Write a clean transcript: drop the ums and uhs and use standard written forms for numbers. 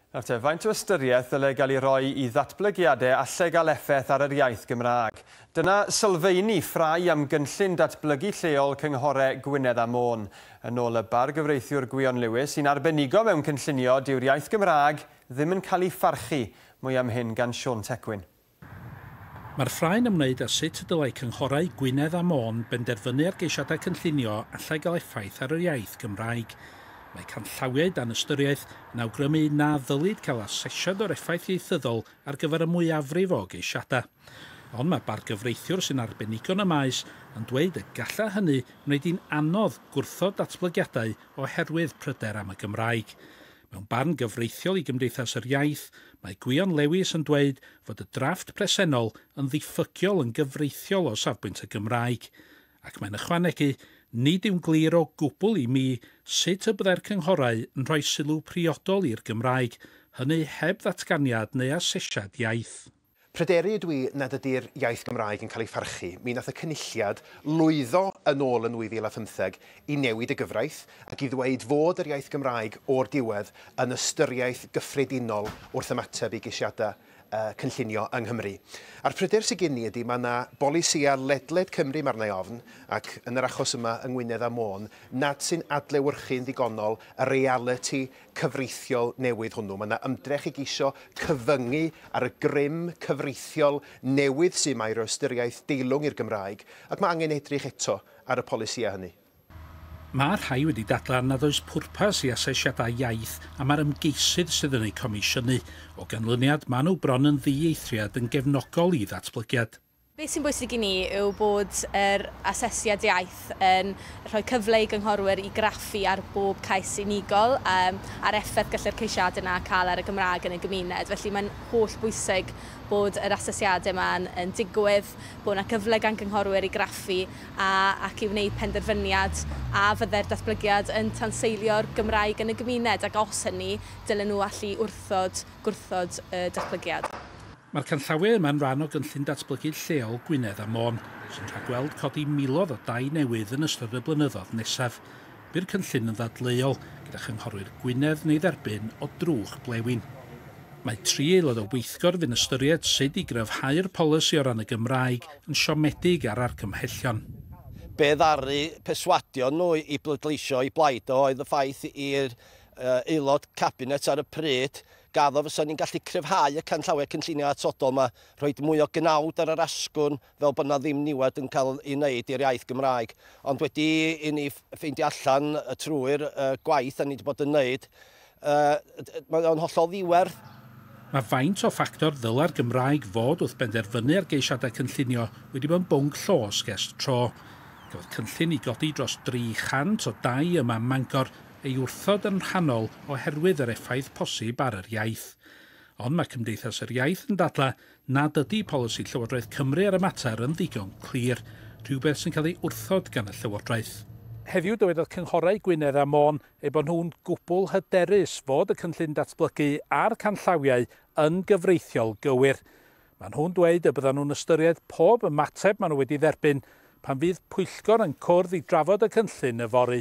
Nawr te, faint o ystyriaeth ddylai gael ei roi i ddatblygiadau allai gael effaith ar yr iaith Gymraeg? Dyna sylfeini ffrae am gynllun datblygu lleol cynghorau Gwynedd a Môn. Yn ôl y bargyfreithiwr Gwion Lewis, sy'n arbenigo mewn cynllunio, dyw'r iaith Gymraeg ddim yn cael ei pharchu. Mwy am hyn gan Siôn Tecwyn. Mae'r ffrae'n ymwneud â sut y dylai cynghorau Gwynedd a Môn benderfynu ar geisiadau cynllunio allai gael effaith ar yr iaith Gymraeg. Mae canllawiau dan ystyriaeth yn awgrymu na ddylid cael asesiad o'r effaith ieithyddol ar gyfer y mwyafrif o geisiadau. Ond mae bargyfreithiwr sy'n arbenigo yn y maes yn dweud y gallai hynny wneud hi'n anodd gwrthod datblygiadau oherwydd pryder am y Gymraeg. Mewn barn gyfreithiol i Gymdeithas yr Iaith, mae Gwion Lewis yn dweud fod y drafft presennol yn ddiffygiol yn gyfreithiol o safbwynt y Gymraeg. Ac mae'n ychwanegu, nid yw'n glir o gwbl i mi sut y byddai'r cynghorau yn rhoi sylw priodol i'r Gymraeg, hynny heb ddatganiad neu asesiad iaith. Pryderu ydw i nad ydy'r iaith Gymraeg yn cael ei pharchu. Mi nath y Cynulliad lwyddo yn ôl yn 2015 i newid y gyfraith ac i ddweud fod yr iaith Gymraeg o'r diwedd yn ystyriaeth gyffredinol wrth ymateb i geisiadau cynllunio yng Nghymru. A'r pryder sydd gen i ydy mae yna bolisïau ledled Cymru, mae arna i ofn, ac yn yr achos yma yng Ngwynedd a Môn, nad sy'n adlewyrchu'n ddigonol y realiti cyfreithiol newydd hwnnw. Mae yna ymdrech i geisio cyfyngu ar y grym cyfreithiol newydd sy'n mae roi ystyriaeth deilwng i'r Gymraeg, ac mae angen edrych eto ar y polisïau hynny. Mae rhai wedi dadlau nad oes pwrpas i asesiadau iaith a mae'r ymgeisydd sydd yn eu comisiynu. O ganlyniad, maen nhw bron yn ddieithriad yn gefnogol i ddatblygiad. Beth sy'n bwysig i ni yw bod yr asesiad iaith yn rhoi cyfle i gynghorwyr i graffu ar bob cais unigol a'r effaith gallu'r ceisiadau yna cael ar y Gymraeg yn y gymuned. Felly mae'n holl bwysig bod yr asesiadau yma yn digwydd, bod yna cyfle gan gynghorwyr i graffu ac i wneud penderfyniad a fyddai'r datblygiad yn tanseilio'r Gymraeg yn y gymuned, ac os hynny, dylen nhw allu gwrthod y datblygiad. Mae'r canllawiau yma'n rhan o gynllun datblygu lleol Gwynedd a Môn, sy'n rhagweld codi miloedd o dai newydd yn ystod y blynyddoedd nesaf. Bu'r cynllun yn ddadleuol gyda chynghorwyr Gwynedd neu dderbyn o drwch blewyn. Mae 3 aelod o weithgor fy'n ystyried sut i gryfhau'r polisi o ran y Gymraeg yn siomedig ar argymhellion. Be ddaru perswadio nhw i bleidleisio i blaid oedd y ffaith i'r aelod cabinet ar y pryd gaddo fysa ni'n gallu cryfhau y canllawiau cynllunio atodol yma, rhoi mwy o gnawd ar yr asgwrn fel bod na ddim niwed yn cael ei wneud i'r iaith Gymraeg. Ond wedi i ni ffeindio allan trwy'r gwaith a ni wedi bod yn wneud, mae o'n hollol ddiwerth. Mae faint o ffactor ddyla'r Gymraeg fod wrth benderfynu ar geisiadau cynllunio wedi bod yn bwnc llosg ers tro. Cafodd cynllun i godi dros 300 o dai yma ym Mangor ei wrthod yn rhannol oherwydd yr effaith posib ar yr iaith. Ond mae Cymdeithas yr Iaith yn dadlau nad ydy polisi Llywodraeth Cymru ar y mater yn ddigon clir, rhywbeth sy'n cael ei wrthod gan y Llywodraeth. Heddiw dywedodd cynghorau Gwynedd a Môn eu bod nhw'n gwbl hyderus fod y cynllun datblygu a'r canllawiau yn gyfreithiol gywir. Maen nhw'n dweud y byddan nhw'n ystyried pob ymateb maen nhw wedi dderbyn pan fydd pwyllgor yn cwrdd i drafod y cynllun yfory.